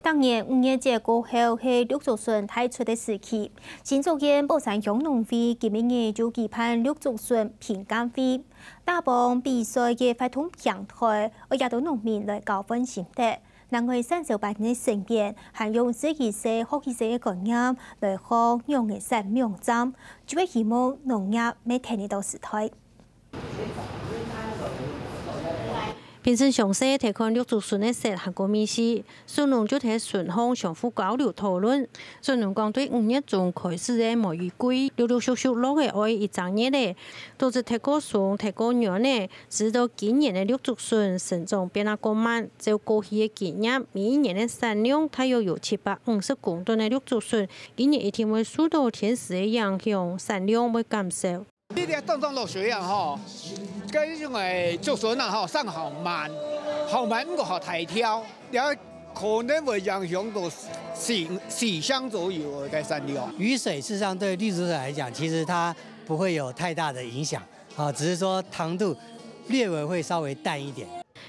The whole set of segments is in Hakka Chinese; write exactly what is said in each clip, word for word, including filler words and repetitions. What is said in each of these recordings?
逐年五月節過後係綠竹筍大出个時期，新竹縣寶山鄉農會今晡日就舉辦綠竹筍評鑑會。打幫比賽个活動平台，愛邀到農民來交換心得。另外，產銷班个成員還用食一息、學一息个觀念來學仰仔撒網針，就係希望農業乜跈得到時代。 平時詳細在看綠竹筍个色還過味緒，筍農就在筍項相互交流討論。筍農講對五月中開始个每一季，陸陸續續落个愛一隻月咧，都係忒過鬆、忒過軟咧，使到今年个綠竹筍生長變啊過慢。照過去个經驗，每一年个產量大約有七百五十公噸个綠竹筍，今年一定會受到天時个影響，產量會減少。 這个當當落水啊吼，該種个竹筍啊吼，生好慢，好慢毋過好大條，也可能會影響到四四箱左右个產量。雨水事實上對綠竹筍來講，其實它不會有太大的影響，啊，只是說糖度略微會稍微淡一點。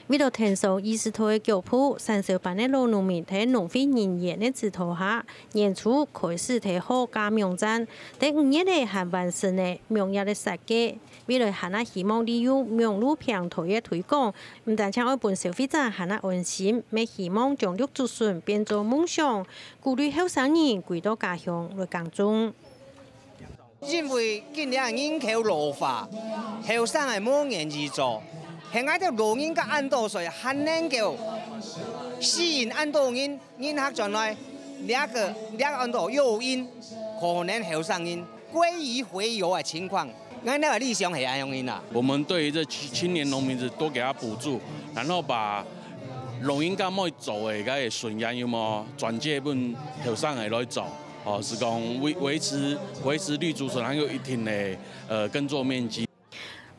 為了跈上時代个腳步，產銷班个老農民在農會人員个指導下，年初開始在學加網針，在五月仔還完成了網頁个設計。未來還啊希望利用網路平台个推廣，毋單淨愛分消費者還啊安心，乜希望將綠竹筍變做夢想，鼓勵後生人歸到家鄉來耕種。 因為今年人口老化，後生个無願意做，係𠊎兜老人家恁多歲，還能夠吸引恁多人，人客轉來，這个這个恁多誘因，可能後生人歸於回流个情況。𠊎兜个理想係恁樣个啦。我們對於這青青年農民子多給他補助，然後把農民家妹做个該個順延有無轉借分後生个來做。 哦，係講維維持維持綠竹筍還有一定个呃耕作面積。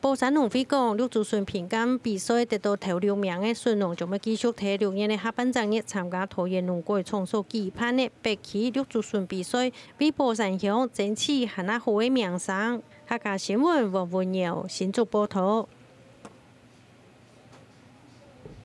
寶山農會講，綠竹筍評鑑比賽得到頭六名个筍農，將會繼續在六月个下半隻月參加桃園農改場所舉辦个北區綠竹筍比賽，為寶山鄉爭取還較好个名聲。客家新聞黃文耀新竹報導。